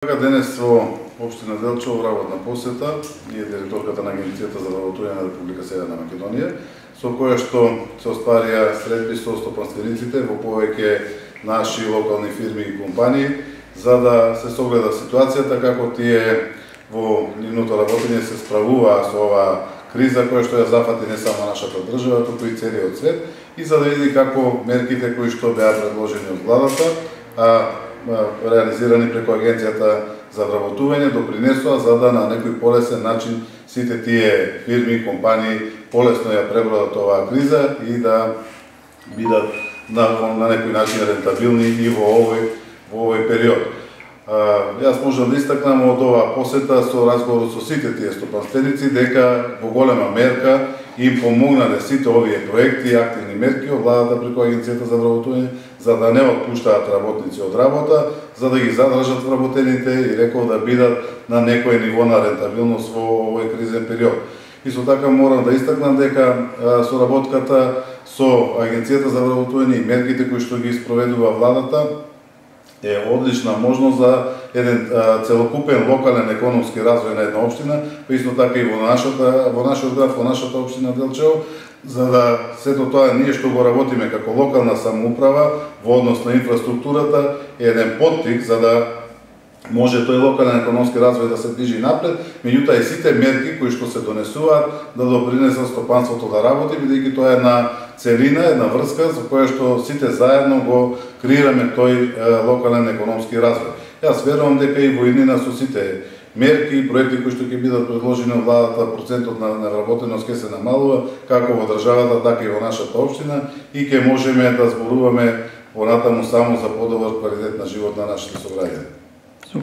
Денес во општина Делчево работна посета е директорката на Агенцијата за вработување на Република Северна Македонија, со која што се остварија средби со стопанствениците во повеќе наши локални фирми и компании, за да се согледа ситуацијата како тие во нивното работење се справуваа со оваа криза која што ја зафати не само нашата држава, туку и целиот свет, и за да види како мерките кои што беа предложени од владата, реализирани преку Агенцијата за вработување, допринесоа за да на некој полесен начин сите тие фирми и компании полесно ја пребродат оваа криза и да бидат на некој начин рентабилни и во овој период. Јас можам да истакнам од оваа посета со разговорот со сите тие стопанственици дека во голема мерка им помогнале сите овие проекти и активни мерки од владата преку Агенцијата за вработување, за да не отпуштаат работници од работа, за да ги задржат вработените и рекол да бидат на некој ниво на рентабилност во овој кризен период. Исто така морам да истакнам дека соработката со Агенцијата за вработување и мерките кои што ги спроведува владата е одлична можност за еден целокупен локален економски развој на една општина, па исто така и во нашиот град, во нашата општина Делчево, за да сето тоа ние што го работиме како локална самоуправа во однос на инфраструктурата е еден поттик за да може тој локален економски развој да се движи напред, меѓутоа и сите мерки кои што се донесуваат да допринесат стопанството да работи, бидејќи тоа е една целина, една врска за која што сите заедно го креираме тој локален економски развој. Јас верувам дека и во иднина со сите мерки и проекти кои што ќе бидат предложени од владата, процентот на невработеност ќе се намалува како во државата, така и во нашата општина и ќе можеме да зборуваме понатаму само за подобар квалитет на живот на нашите сограѓани.